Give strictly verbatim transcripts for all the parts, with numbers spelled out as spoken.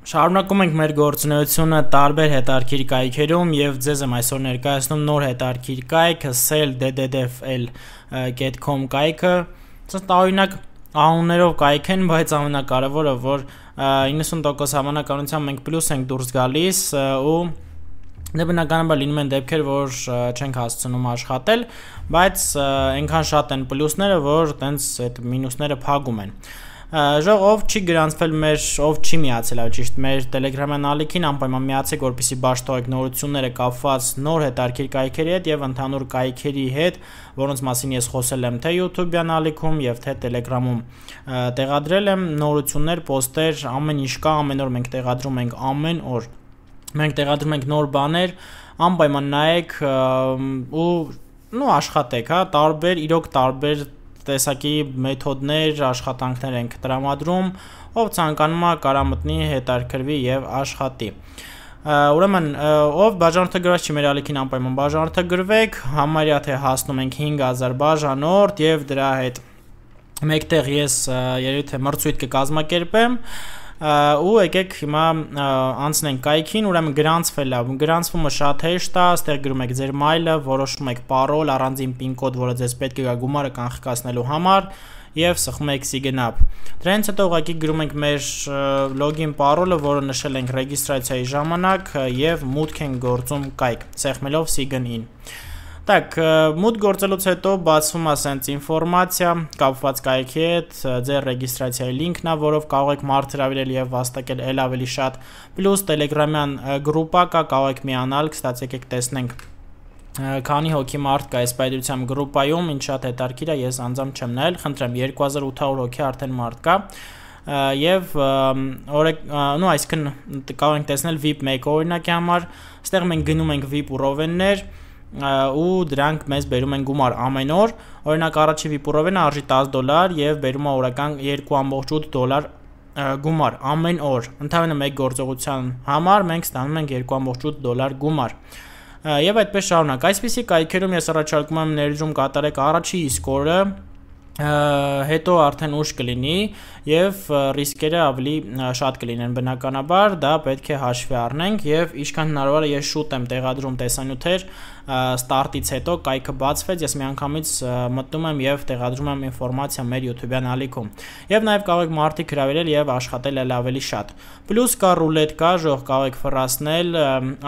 Շարունակում ենք մեր գործունեությունը տարբեր հետարքիր կայքերում եւ ձեզ եմ այսօր ներկայացնում նոր հետարքիր կայք sell d d d f l dot com կայքը։ Սա տարօրինակ անուններով կայք են, բայց ամենակարևորը որ իննսուն տոկոս հավանականությամբ մենք պլյուս ենք դուրս գալիս ու դե բնականաբար լինում են դեպքեր, որ չենք հասցնում աշխատել, բայց այնքան շատ են պլյուսները, որ տենց այդ մինուսները փակում են։ Ժող ով չի գրանցվել մեր, ով չի միացել այլ ճիշտ մեր Telegram-յան ալիքին, անպայման միացեք, որպեսզի բաշխտեք նորությունները կապված նոր հետարքիր կայքերի հետ եւ ընդհանուր կայքերի հետ, որոնց մասին ես խոսել եմ թե YouTube-յան ալիքում եւ թե Telegram-ում տեղադրել եմ նորություններ, պոստեր, ամեն ինչ կա, ամեն օր մենք տեղադրում ենք ամեն օր։ Մենք տեղադրում ենք նոր բաներ, անպայման նայեք ու նո աշխատեք, հա, տարբեր, իրոք տարբեր տեսակի մեթոդներ, աշխատանքներ ենք տրամադրում, ով ցանկանում է կարա մտնի, հետարքրվի եւ աշխատի։ Ուրեմն, ով բաժանորդագրված չի մեր ալիքին անպայման բաժանորդագրվեք, համարյա թե հասնում ենք հինգ հազար բաժանորդ եւ դրա հետ մեկտեղ ես երևի թե մրցույթ կկազմակերպեմ ու եկեք հիմա անցնենք կայքին, ուրեմն գրանցվել է, գրանցումը շատ հեշտ է, ստեղ գրում եք ձեր մայլը, որոշում եք պարոլ, առանձին պին կոդ, որը ձեզ պետք է գա գումարը կանխկացնելու համար եւ սխում եք Sign-up։ Դրանից հետո ուղղակի գրում ենք մեր լոգին պարոլը, որը նշել ենք ռեգիստրացիայի ժամանակ եւ մուտք ենք գործում կայք, սեղմելով Sign-in։ Так, մուտք գործելուց հետո բացվում է sense ինֆորմացիա կապված կայքի հետ, ձեր ռեգիստրացիայի լինքն է, որով կարող եք մարդ հրավիրել եւ վաստակել ել ավելի շատ, պլյուս Telegram-յան գրուպա կա, կարող եք միանալ, կստացի եկեք տեսնենք քանի հոգի մարդ կա այս պայդրությամբ գրուպայում, ինչ շատ հետարքիր է, ես անձամբ չեմ նայել, խնդրեմ երկու հազար ութ հարյուր հոգի արդեն մարդ կա եւ նո այսինքն կարող ենք տեսնել V I P մեկ օրինակի համար, այստեղ մենք գնում ենք V I P ռովեններ ու դրանք մեզ բերում են գումար ամեն օր, օրինակ առաջի V I P ռովենը արժի տասը դոլար եւ բերում է օրական երկու կoma ութ դոլար գումար ամեն օր, ընդհանրապես մեկ գործողության համար մենք ստանում ենք երկու կoma ութ դոլար գումար։ Եվ այդպես շարունակ, այսպիսի կայքերում ես առաջարկում եմ ներդրում կատարեք առաջի իսկ օրը, հետո արդեն ուշ կլինի եւ ռիսկերը ավելի շատ կլինեն բնականաբար, դա պետք է հաշվի առնենք եւ ինչքան հնարավոր է ես շուտ եմ տեղադրում տեսանյութեր ստարտից հետո կայքը բացվեց, ես միանգամից մտնում եմ եւ տեղադրում եմ ինֆորմացիա մեր YouTube-յան ալիքում։ Եվ նաեւ կարող եք մարդիկ հրավիրել եւ աշխատել ել ավելի շատ։ Պլյուս կա ռուլետկա, ժող կարող եք ֆռասնել,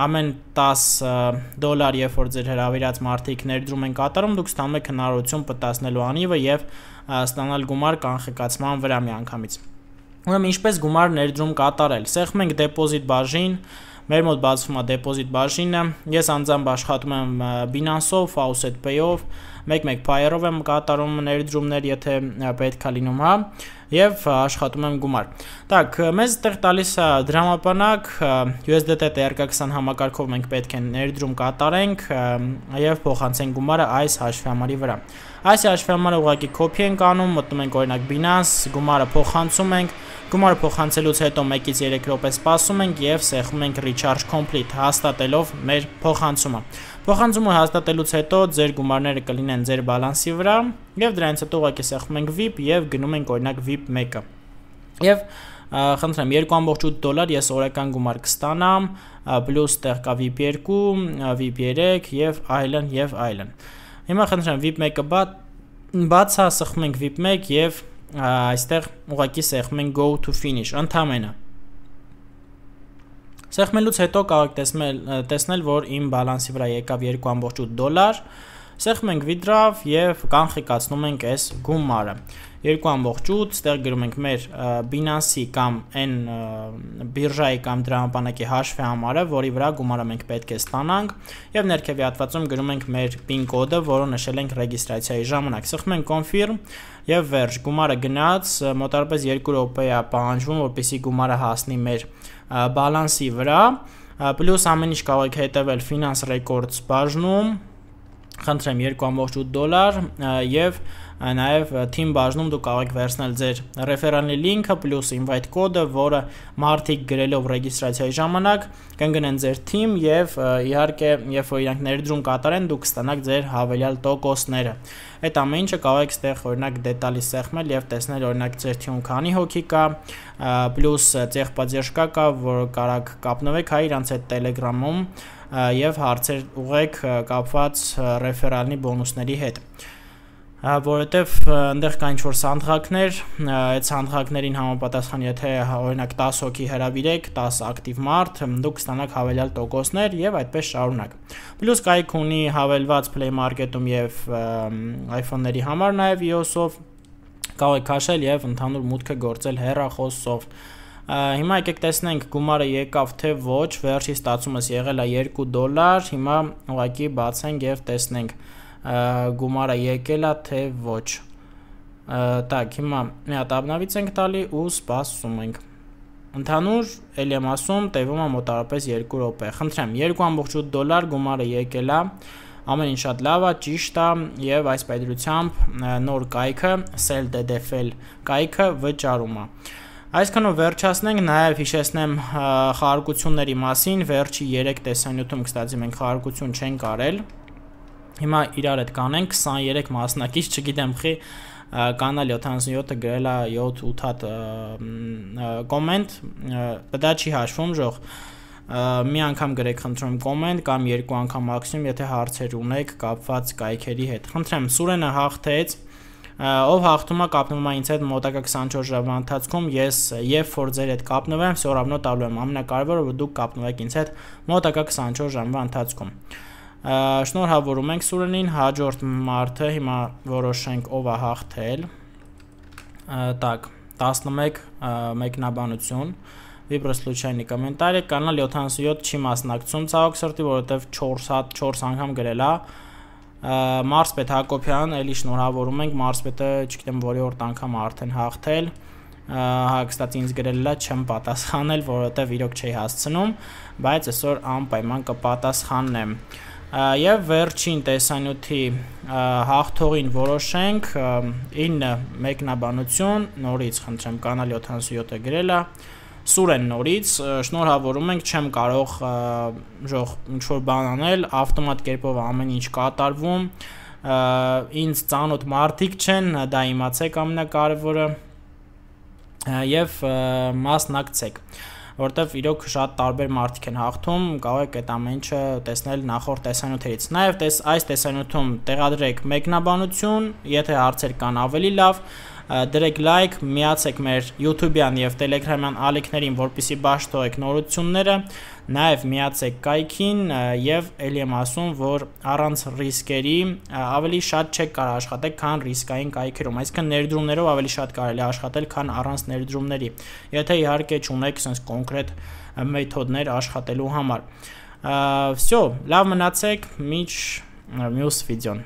ամեն տասը դոլար, երբ որ ձեր հրավիրած մարդիկ ներդրում են կատարում, դուք ստանում եք հնարավորություն պտտացնելու անիվը եւ ստանալ գումար կանխկացման վրա միանգամից։ Ուրեմն ինչպես գումար ներդրում կատարել։ Սեղմում ենք դեպոզիտ բաժին, մեր մոտ բացվում է դեպոզիտ բաժինը, ես անձամբ աշխատում եմ Binance-ով, Faucet Pay-ով, մեկ-մեկ Payer-ով եմ կատարում ներդրումներ, եթե պետք է լինում, հա, եւ աշխատում եմ գումար։ Так, մեզ այդտեղ տալիս է դրամապանակ, U S D T T R K twenty համակարգով մենք պետք է ներդրում կատարենք եւ փոխանցենք գումարը այս հաշվամարի վրա։ Այս հաշվամարը ուղղակի copy ենք անում, մտնում ենք օրինակ Binance, գումարը փոխանցում ենք, գումարը փոխանցելուց հետո մեկից երեք րոպե սպասում ենք եւ սեղմում ենք recharge complete, հաստատելով մեր փոխանցումը։ Փոխանցումը հաստատելուց հետո ձեր գումարները կլինեն ձեր բալանսի վրա եւ դրանից հետո ուղղակի սեղմում ենք V I P եւ գնում ենք օրինակ V I P one-ը։ Եվ խնդրեմ երկու կoma ութ դոլար ես օրական գումար կստանամ, պլյուս տեղ կա V I P two, V I P three եւ այլն եւ այլն։ Հիմա խնդրեմ V I P one-ը բացա, սեղմում ենք V I P one եւ այստեղ ուղղակի սեղմում ենք go to finish, ընդամենը։ Սեղմելուց հետո կարող եք տեսնել, տեսնել, որ իմ բալանսի վրա եկավ երկու կoma ութ դոլար, սեղմում ենք withdraw եւ կանխկացնում ենք այս գումարը։ երկու կoma ութ, ստեղ գրում ենք մեր Binance-ի կամ այն բիրժայի կամ դրամապանակի հաշվի համարը, որի վրա գումարը մենք պետք է ստանանք եւ ներքևի հատվածում գրում ենք մեր PIN կոդը, որը նշել ենք ռեգիստրացիայի ժամանակ։ Սեղմում ենք confirm եւ վերջ, գումարը գնաց, մոտավորապես երկու րոպե է պահանջվում, որպեսզի գումարը հասնի մեր բալանսի վրա, պլյուս ամեն ինչ կարող եք հետևել Finance Records բաժնում, խնդրեմ երկու կoma ութ դոլար եւ նաև team բաժնում դուք կարող եք վերցնել ձեր ռեֆերալի լինքը պլյուս invite կոդը, որը մարդիկ գրելով ռեգիստրացիայի ժամանակ կընկնեն ձեր team եւ իհարկե երբ որ իրանք ներդրում կատարեն դուք կստանաք ձեր հավելյալ տոկոսները։ Այդ ամեն ինչը կարող եք ստեղ օրինակ դետալի սեղմել եւ տեսնել օրինակ ձեր team-ում քանի հոգի կա, պլյուս ծեղբաձերժկա կա, որ կարաք կապնվեք հայ իրանց այդ Telegram-ում եւ հարցեր ուղեք կապված ռեֆերալնի բոնուսների հետ։ Որովհետև այնտեղ կա ինչ-որ սանդղակներ, այդ սանդղակներին համապատասխան եթե օրինակ դես հոգի հրավիրեք, դես ակտիվ մարդ, դուք կստանաք հավելյալ տոկոսներ եւ այդպես շարունակ։ Պլյուս կայք ունի հավելված Play Market-ում եւ iPhone-ների համար նաեւ iOS-ով կարող եք քաշել եւ ընդհանուր մուտքը գործել հեռախոսով։ Հիմա եկեք տեսնենք գումարը եկավ թե ոչ, վերջի ստացումս եղել է երկու դոլար, հիմա ուղղակի բացենք եւ տեսնենք գումարը եկել է թե ոչ։ Так, հիմա մի հատ обновից ենք տալի ու սպասում ենք։ Ընդհանուր ելի եմ ասում, տևում է մոտավորապես երկու րոպե։ Խնդրեմ, երկու կόμma ութ դոլար գումարը եկել է։ Ամեն ինչ շատ լավ է, ճիշտ է եւ այս պայծրությամբ նոր կայքը Sell D D F L կայքը վճարում է։ Այսքանով վերջացնենք, նաև հիշեցնեմ խաղարկությունների մասին, վերջի երեք տեսանյութում կստացի մենք խաղարկություն չենք արել։ Հիմա իրար հետ կանենք քսաներեք մասնակից, չգիտեմ խի կանալ յոթանասունյոթը գրել է յոթ ութ հատ կոմենտ, դա չի հաշվում ժող։ Մի անգամ գրեք խնդրում կոմենտ կամ երկու անգամ մաքսիմում, եթե հարցեր ունեք կապված կայքերի հետ։ Խնդրեմ, Սուրենը հաղթեց, ով հաղթում է կապնվում է ինձ հետ մոտակա քսանչորս ժամվա ընթացքում, ես երբ որ ձեր հետ կապնվեմ, всё равно տալու եմ, ամենակարևորը որ դուք կապնվեք ինձ հետ մոտակա քսանչորս ժամվա ընթացքում։ Շնորհավորում ենք Սուրենին, հաջորդ մարդը հիմա որոշենք ով է հաղթել։ Так, տասնմեկ մեկնաբանություն, Վիբրոս случайный комментарий, կանալ յոթանասունյոթ չի մասնակցում ցավոք սրտի, որովհետև չորս հատ չորս անգամ գրել է։ Մարսպետ Հակոբյան, էլի շնորհավորում ենք, Մարսպետը, չգիտեմ որի օրդ անգամ արդեն հաղթել։ Հա, կստացի ինձ գրել է չեմ պատասխանել, որովհետև իրոք չի հասցնում, բայց այսօր անպայման կպատասխանեմ։ Եվ վերջին տեսանյութի հաղթողին որոշենք ինը մեկնաբանություն, նորից խնդրեմ կանալ յոթանասունյոթը գրել է, Սուրեն նորից, շնորհավորում ենք, չեմ կարող ժող ինչ-որ բան անել, ավտոմատ կերպով ամեն ինչ կատարվում, ինձ ծանոթ մարդիկ չեն, դա իմացեք ամենակարևորը եւ մասնակցեք, որտեվ իրոք շատ տարբեր մարդիկ են հաղթում, կարող եք այդ ամեն ինչը տեսնել նախորդ տեսանյութերից։ Նաեւ տես այս տեսանյութում տեղադրեք մեկնաբանություն, եթե հարցեր կան ավելի լավ, դրեք լայք, միացեք մեր YouTube-յան եւ Telegram-յան ալիքներին, որպեսզի բաշխ թողեք նորությունները, նաեւ միացեք կայքին եւ ելի եմ ասում, որ առանց ռիսկերի ավելի շատ չեք կարող աշխատել, քան ռիսկային կայքերում, այսինքն ներդրումներով ավելի շատ կարելի է աշխատել, քան առանց ներդրումների, եթե իհարկե չունեք sense կոնկրետ մեթոդներ աշխատելու համար։ Всё, լավ մնացեք, միջ մյուս վիդեոն։